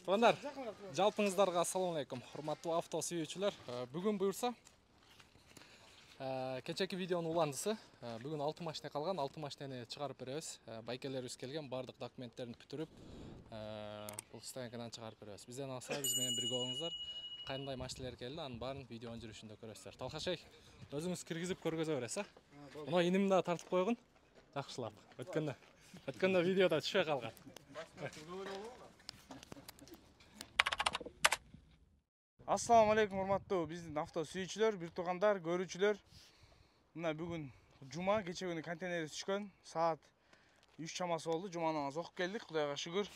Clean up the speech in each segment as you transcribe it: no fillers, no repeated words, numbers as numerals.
Туугандар, жалпыңыздарга ассаламу алейкум. Урматтуу авто сүйүүчүлөр. Бүгүн буюрса кечеки видеонун уландысы. Бүгүн 6 машина калган, 6 машинаны чыгарып беребиз. Байкелерибиз келген, бардык документтерин бүтүрүп, бул стоянкадан чыгарып беребиз. Бизден алса биз менен бирге болуңуздар. Кандай машиналар келди, анын баарын видеонун жүрүшүндө көрөсүздөр. Талкашай, өзүңүз киргизип көргөзө бересиз, Мына иним да тартып койгун. Жакшылап. Өткөндө видеода түшө калган. Ассаламу алейкум, урматтуу биздин авто сүйүүчүлөр, бир туугандар, көрүүчүлөр. Мына бүгүн жума, кече күнү контейнер түшкөн. Саат 3 чамасы болду. Жума намаз окуп келдик, Кудайга шүгүр.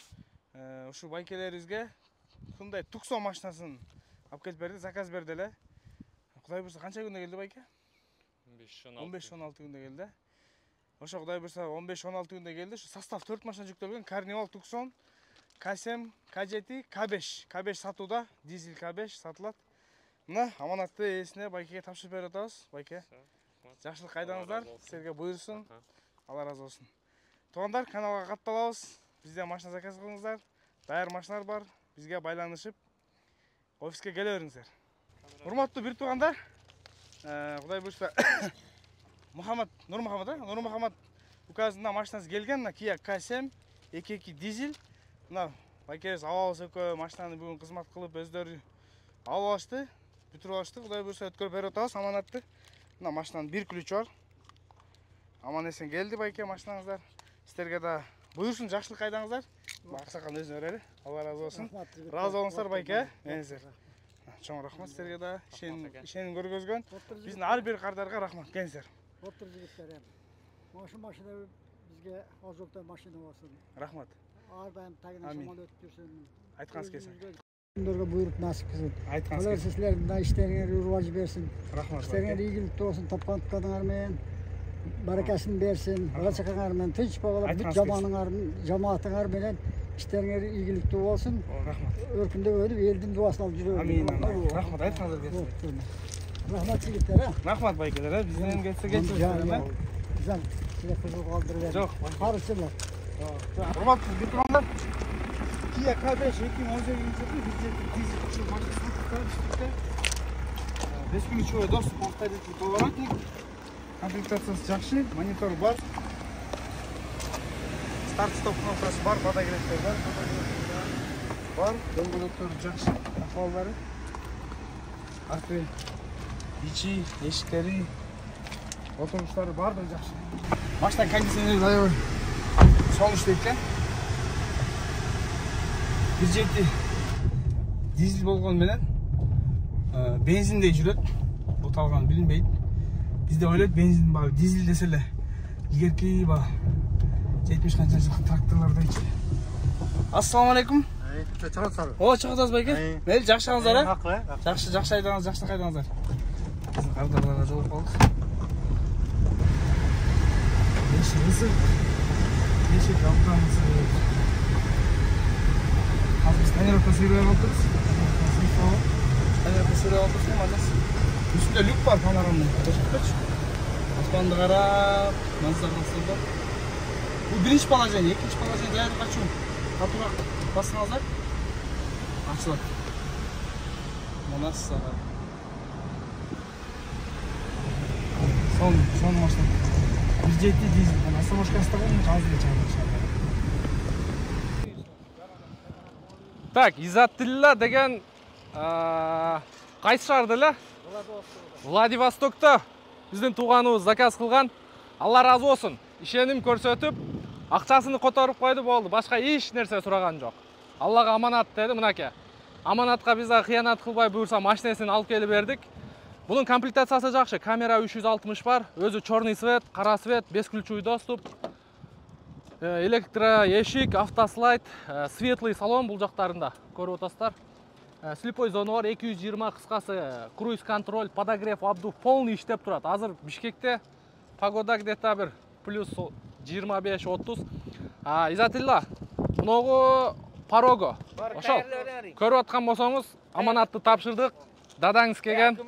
Ушу байкелерибизге Hyundai Tucson машинасын алып келип берди, заказ берди эле. Кудай буйрса канча күндө келди байке? 15-16 күндө келди. Ошо Кудай буйрса 15-16 күндө келди. Ушу состав 4 машина жүктөлгөн. Carnival, Tucson, K7, K7, K5. K5 сатууда, дизель K5 сатылат. Мына аманатты ээсине байкеге тапшырып берип атабыз. Байке, жакшылык кайдаңыздар, силерге буйрсун. Алла разы болсун. Туугандар, каналга катталабыз. Бизден машина заказ кылыңыздар. Даяр машиналар бар. Бизге байланышып, офиске келе бериңиздер. Урматтуу бир туугандар, Кудай буйрса Нур Мухаммад указында машинасы келген, Kia K7 2.2 дизель. Мына байкебиз алабыз экөө машинаны бүгүн кызмат кылып өздөрү алып алышты, бүтүрүп алышты. Кудай буйрса өткөрүп берип атабыз аманатты. Мына машинанын бир ключу бар. Аман эсен келди байке машинаңыздар. Силерге да буйрсун, жакшылык кайдаңыздар. Аксакал өзүнө берели. Алла разы болсун. Разы болуңуздар байке. Менсиздер. Чоң рахмат силерге да. Ишеним көргөзгөн. Биздин ар бир кардарга рахмат. Келиңиздер. Отур жигиттер. Машина бизге озокто машина болсун. Рахмат. Ар дайым тагына шамал өтүп жүрсүн. Айтканыңыз келсин. Күндөргө буйруп насип кылсын. Айтканыңыз Алла келсин. силердин да иштериңерге урваж берсин. Рахмат. Иштериңер ийгиликтүү болсун, тапкан тутканыңар менен баракасын берсин. Бала чакаңар менен тынч болуп, бүт жамаатыңар менен иштериңер ийгиликтүү болсун. Рахмат. Өркүндөп өтүп, элдин дуасын алып жүрөбүз. Амин. Рахмат, айтканыңыз келсин. Рахмат жигиттер. Рахмат байкелер, бизден келсе кетсиңиздер. Жан, силер кызыл калтырып бердиң. Жок, Карысыңар. Урматтуу бир туугандар, Kia K5 2018-жылы дизель үчүн машина сатып 5 ключевой доступ автомобиль поворотник. Комплектациясы жакшы, монитор бар. Старт-стоп кнопкасы бар, подогревтер бар. Дөңгөлөктөр жакшы, ахвалдары. Арты, ичи, эшиктери, отуруштары бардыгы жакшы. Машина кондиционери аябай сонун иштейт экен. 1.7 дизель болгон менен бензиндей жүрөт. Буталган билинбейт. Бизде ойлойт бензин баы дизель десе эле илгерки баы 70 канча жылкы тракторлордойчу. Ассаламу алейкум. Чыгасыздар. О, чыгасыз байке. Мейли, жакшыңыздар, Жакшы айдаңыз, жакшы кайдаңыздар. Биздин кардарларга жолугуп калдык. Неше автомобиль. Hazır tayyorlukta sürüyor olduk. Tayyorlukta sürüyor olduk. Üstünde lük var panoramda. Asmandı qarab, manzara nasıldı? Bu birinci palajan, ikinci palajan değerli kaçın. Katıra basınızlar. Açılır. Bu nasıl sağlar? Son maçta. 1.7 dizel. Nasıl boş kastağın hazır geçer. Так, Изаттилла деген кайсы шаарда эле? Владивостокто биздин тууганыбыз заказ кылган. Алла разы болсун. Ишеним көрсөтүп, акчасын которуп койду, болду. Башка эч нерсе сураган жок. Аллага аманат деди, мынакей. Аманатка биз кыянат кылбай буйрса машинесин алып келип бердик. Бунун комплектациясы жакшы. Камера 360 бар, өзү чорный свет, кара свет, бесключевой доступ. Электро эшик, автослайд, светлый салон бул жактарында көрүп атасыздар. Слепой зона бар, 220 кыскасы, круиз контроль, подогрев, обдув полный иштеп турат. Азыр Бишкекте погода где-то бир плюс 25-30. Изатилла, многу парого. Ошол көрүп аткан болсоңуз, аманатты тапшырдык. Дадаңыз келген.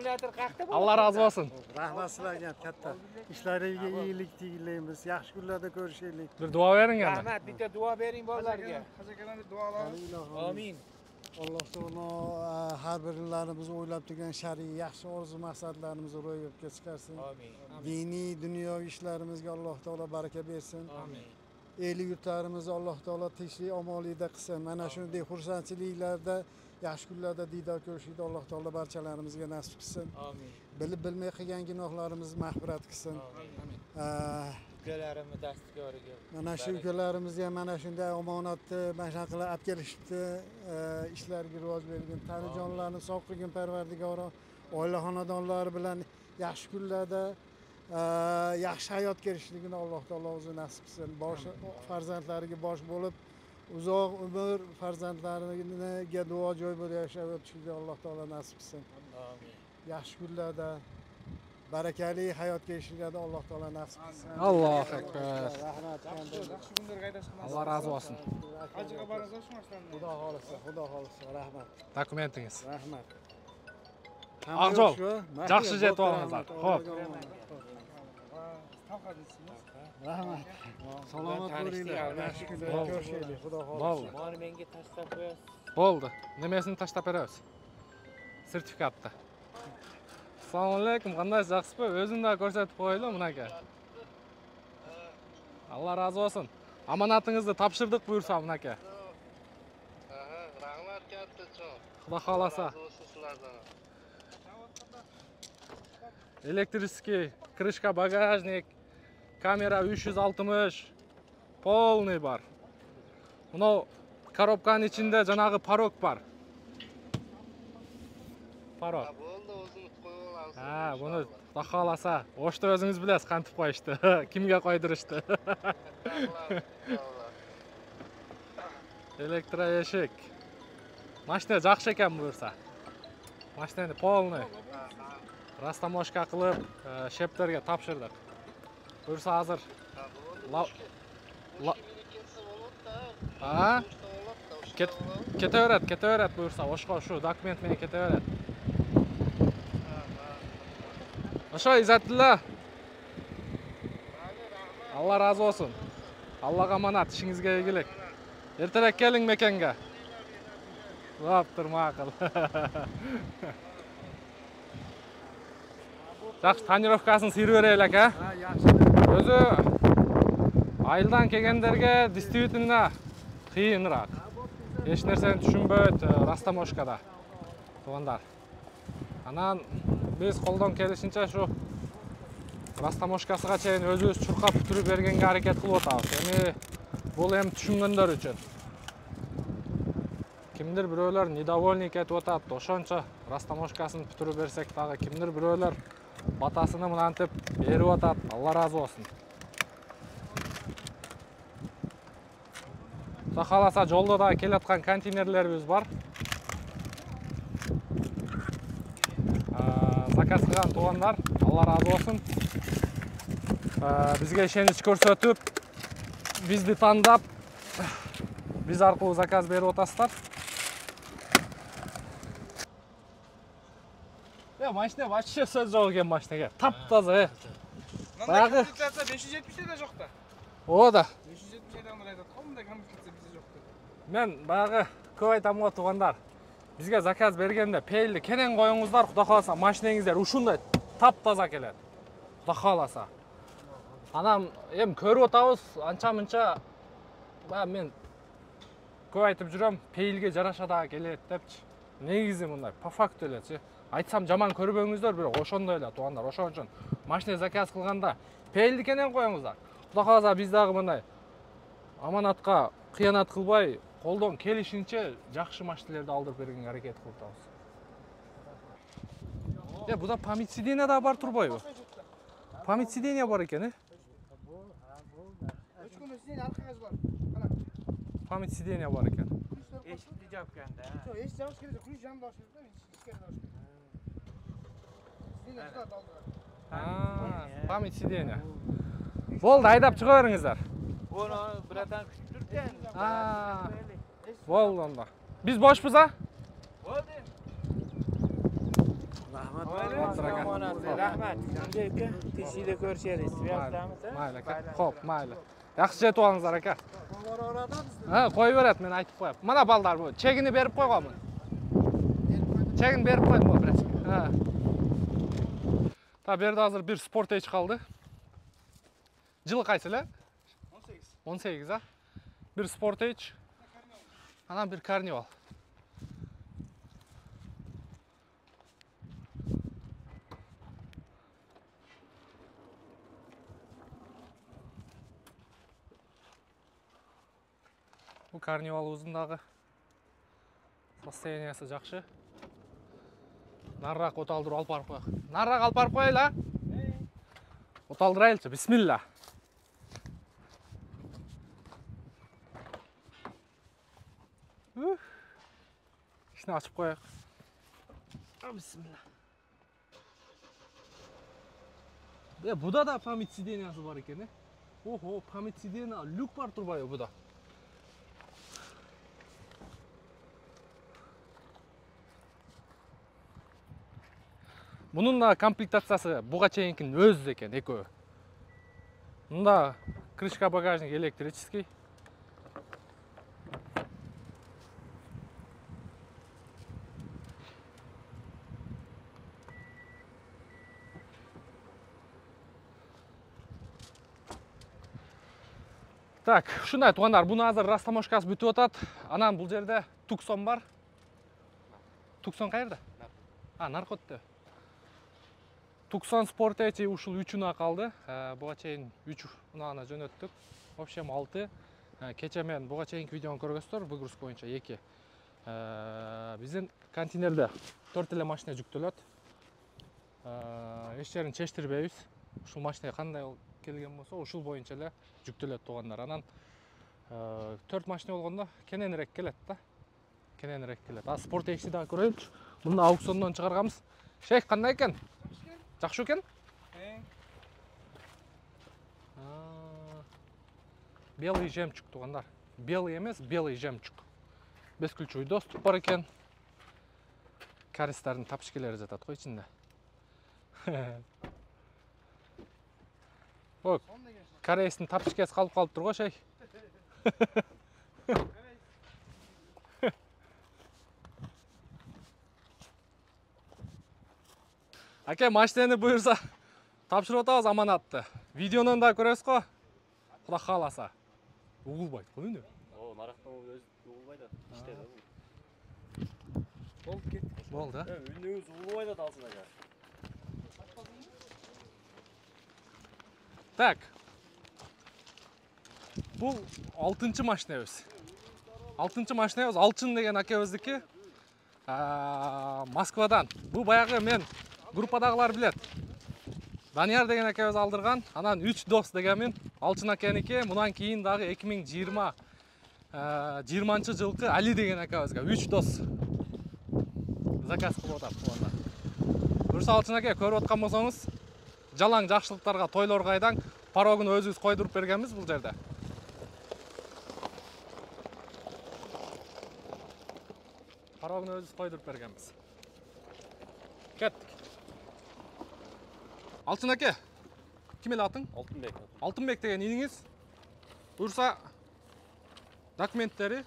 Алла разы болсын. Рахмат силерге катта. Ишларыңызга ийгилик тилейбиз. Жакшы күндөрдө көрүшөлүк. Бир дуа бериң ана. Рахмат, битте дуа бериң балдарга. Хажакаларды дуалаңыз. Амин. Alloh taolo har birlarimiz o'ylab turgan shar'iy yaxshi orzu maqsadlarimizni ro'yobga chiqarsin. Amin. Diniy, dunyoviy ishlarimizga Alloh taolo baraka bersin. Amin. Eli yurtlarimizni Alloh taolo tinchlik, omonlikda qilsin. Mana shunday xursandchiliklarda, yaxshi kunlarda diydor ko'rishni Alloh taolo barchalarimizga nasib qilsin. Amin. Bilib bilmay qilgan gunohlarimizni mag'firat qilsin. Ukalarimiz dastgoriga. Mana shu ukalarimiz ham mana shunday omonatni mana shunaqa qilib olib kelishibdi. Ishlariga rivoj bergin, tanijonlarni sog' qilgin Parvardigoro. Oila xonadonlari bilan yaxshi kunlarda yaxshi hayot kechishligini Alloh taolo o'zi nasib qilsin. Bosh farzandlariga bosh bo'lib, uzoq umr farzandlariga duo joy bo'lib yashab o'tishini Alloh taolo nasib qilsin. Amin. Yaxshi kunlarda barakali hayot kechishinglarni Alloh taolo nasib qilsin. Allohu akbar. Rahmat. Yaxshi kunlarga haydashib Alloh razı olsun. Hajga borasiz oshmasdan. Xudo xolisa, rahmat. Dokumentingiz. Rahmat. Aqjol, yaxshi jet olingizlar. Xo'p. Rahmat. Salomat bo'linglar. Yaxshi kunlar ko'rishaylik. Xudo xolisa. Bo'ldi. Mani menga tashlab qo'yasiz. Bo'ldi. Nimesini tashlab beramiz? Sertifikatni. Assalomu alaykum, qandaysiz, yaxshisiz? O'zimni ko'rsatib qo'yaylik bunaka. Alloh razı olsun. Amonatingizni topshirdik buyursa bunaka. Rahmat katta cho'q. Xudo xolasa. Elektriskiy, krышка, багажник, kamera 360, полный бар. Bunau korobkaning ichida janag'i parok bor. Parok. Bo'ldi, o'zimiz qo'yib olamiz. Ha, buni Xudo xolasa, o'shda o'zingiz bilasiz qanday qo'yishdi, kimga qo'ydirishdi. Elektroeshik. Mashina yaxshi ekan buyursa. Mashinani полный. Rastamoshka qilib, shepterga topshirdik. Buyursa hozir. Ha? Ketaveradi buyursa, boshqa shu dokument bilan ketaveradi. O'sha Izzatilla. Alloh razı olsun. Allohga omonat, ishingizga egilik. Ertaroq keling mekanga. Bo'ptir, ma'qul. Yaxshi tonirovkasini sirib beraylik, ha? Ha, yaxshi. O'zi ayildan kelganlarga действительно qiyinroq. Hech narsani tushunmaydi rastamoshkada. To'g'andar. Anan biz qo'ldan kelishincha shu rastamoshkasiga chayin o'zimiz churqab turib berganga harakat qilib o'tamiz. Ya'ni bu ham tushunganlar uchun. Kimdir birovlar недовольник etib o'tadi. O'shancha rastamoshkasini bitirib bersak tag'i kimdir birovlar batasini mantib berib o'tadi. Alloh razı olsun. Xudo xolasa yo'lda da kelayotgan konteynerlarimiz bor. Zakaz qilgan to'g'onlar, Alloh razı olsun. Bizga ishonch ko'rsatib, bizni tanlab, biz orqali zakaz berib o'tasizlar. Ya mashina вообще so'z yo'q ekan mashinaga. Tap-toza. Bayag'i 570 da yo'qda. O'da. 570 dan aytadi. Qanday komplektsiya bizda yo'qda. Men bayag'i ko'p aytaman to'g'onlar. Bizga zakaz berganda peylni keling qo'yingizlar, xudo xolasa mashinangizlar shunday tap-toza keladi. Xudo xolasa. Anam ham ko'rib o'tamiz, ancha-muncha men ko'p aytib juram, peylga jarashada keladi debchi. Negizi bunday, po faktu elchi. Aytsam jomon ko'ribingizlar, biroq o'shondaylar to'g'onlar. O'shaning uchun mashina zakaz qilganda peylni keling qo'yingizlar. Xudo xolasa bizdagi bunday omonatga xiyonat qilmay, qo'ldan kelishincha yaxshi mashinalarni oldirib berishga harakat qilamiz. Ya bu da pamять сиденья da bor turboyev. Pamять сиденья bor ekan, Pamять сиденья bor ekan. Eshitdi jopganda. Yo'q, eshitamiz kerak, kulish ham boshida, ichkari boshida. Pamять сиденья. Bo'ldi, haydab chiqaveringizlar. Uni biratan kutib turgan. Bo'ldi onda. Biz boshmiz, ha? Bo'ldi. Rahmat. Rahmat. Shunday aka, teshikda ko'rishamiz. Mayli aka. Xo'p, mayli. Yaxshi jet olingizlar aka. Кое берет, мен айтып коем. Мына балдар, бу чегини берип койгонмун. Чегин берип койдум бираз. Та берде азыр бир Sportage калды. Жылы кайсы эле? 18, а? Бир Sportage. Анан бир Carnival. Бул Carnival'ыбыздын дагы состояниясы жакшы. Нарыраак оталдырып алып барып коелу. Нарыраак алып барып коелу, а? Оталдырайлычы. Бисмилла. Ишини ачып коелук. Бисмилла. Буда да память сидениясы бар экен, Ого, память сидения, люк бар турбайбы буда? Bunun da комплектациясы буга чейинкинин өзү экен, экөө. Мында крышка багажник электрический. Так, ушундай туугандар, буну азыр растаможкасы бүтүп атат. Анан бул жерде Tucson бар. Tucson каерде? Наркотте. Tucson Sportage ушул 3-уна калды. Буга чейин 3 унааны жөнөттүк. В общем 6. Кече мен буга чейинки видеону көргөзсөздөр, выгрузка боюнча 2. Биздин контейнерде 4 эле машина жүктөлөт. Эч жерин чечтирбейбиз. Ушул машина кандай келген болсо, ушул боюнча эле жүктөлөт туугандар. Анан 4 машина болгондо кененирээк келет да. Кененирээк келет. Sportage'ди дагы көрөйүнчү. Муну аукциондон чыгарганбыз. Шейх кандай экен? Жакшы экен? Белый жемчуг туугандар. Белый эмес, белый жемчуг. Бесключевый доступ бар экен. Каристердин тапшкелери жатат го ичинде. Ок. Корейстин тапшкеси калып калыптыр го, шей. Аке, машинени буюрса тапшырып атабыз аманатты. Видеонун да көрөсүз го. Кудай кааласа. Угулбайт го эмне? Нарактан өзү угулбайт да. Иштеди бул. Болду кет. Болду, а? Үнүңүз угулбайт да алсын ага. Так. Бул 6-чы машинабыз. 6-чы машинабыз Алчын деген акебиздики. Москвадан. Бул баягы мен группадагылар билет. Данияр деген акебиз алдырган. Анан 3 дос дегенмин. Алчын акеники. Мундан кийин дагы 2020 жылкы Али деген акебизге 3 дос заказ кылып атат туугандар. Буюрса Алчын аке көрүп аткан болсоңуз, жалаң жакшылыктарга, тойлорго айдаң. Парогун өзүбүз койдуруп бергенбиз бул жерде. Парогун өзүбүз койдуруп бергенбиз. Кеттик. Алчын аке, ким эле атың? Алтынбек. Алтынбек деген иниңиз. Буюрса документтери,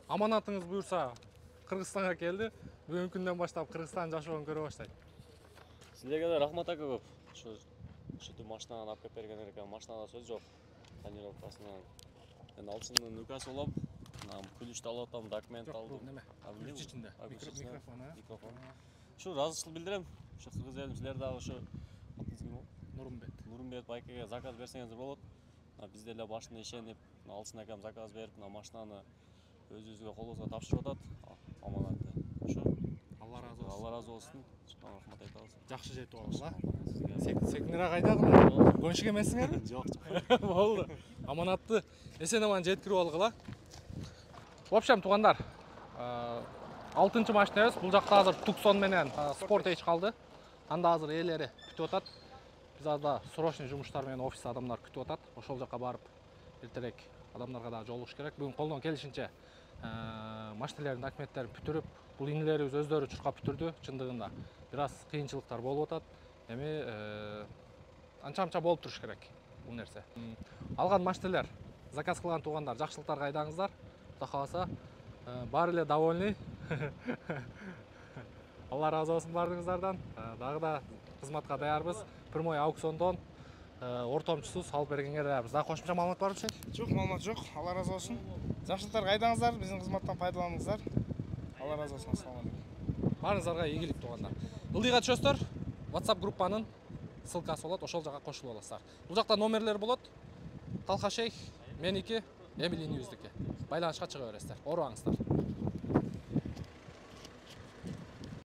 аманатыңыз буюрса Кыргызстанга келди. Бүгүнкү күндөн баштап Кыргызстан жашоогун көрө баштайт. Силерге да рахмат ака көп. Ушинтип машинаны алып келип бергендер экен. Машинада сөз жок. Тонировкасынан. Мен Алчындын укасы болом. Күлүштү алып атам, документ алдым. Неме? Күч ичинде. Микрофон, Микрофон. Ушу ыраазычылык билдирем. Ушу кыргыз элим силер дагы ушу атыңыз ким болот? Нурмбет. Нурмбет байкеге заказ берсеңиз болот. Биз деле башында ишенип, Алчын акам заказ берип, машинаны өзүбүзгө колубузга тапшырып атат. Аманатты. Ушу Алла разы болсун. Алла разы болсун. Рахмат айтабыз. Жакшы жетип алабыз, а? Секинирээк айдагыла. Гонщик эмессиңерби? Жок. Болду. Аманатты эсен аман жеткирип алгыла. В общем, туугандар, 6-чы машинабыз. Бул жакта азыр Tucson менен Sportage калды. Анда азыр ээлери күтүп атат. Биз азыр срочный жумуштар менен офис адамдар күтүп атат. Ошол жака барып эртерээк адамдарга да жолугуш керек. Бүгүн колдон келишинче машинелердин документтерин бүтүрүп, бул инилерибиз өздөрү чуркап бүтүрдү. Чындыгында бир аз кыйынчылыктар болуп атат. Эми анча-мынча болуп туруш керек бул нерсе. Алган машинелер заказ кылган туугандар жакшылыктарга айдаңыздар. Кудай кааласа баары эле довольный. Алла разы болсун бардыгыңыздардан. Дагы да кызматка даярбыз. Прямой аукциондон ортомчусу салып бергенге даярбыз. Дагы кошумча маалымат барбы Шейх? Жок, маалымат жок. Алла разы болсун. Жакшылыктарга айдаңыздар, биздин кызматтан пайдаланыңыздар. Алла разы болсун. Ассаламу алейкум. Баарыңыздарга ийгилик туугандар. Ылдыйга түшөсүздөр. WhatsApp группанын ссылкасы болот, ошол жака кошулуп аласыздар. Бул жакта номерлер болот. Талха Шейх, меники, Эмили Ньюздики. Байланышка чыга бересиздер. Оорубаңыздар.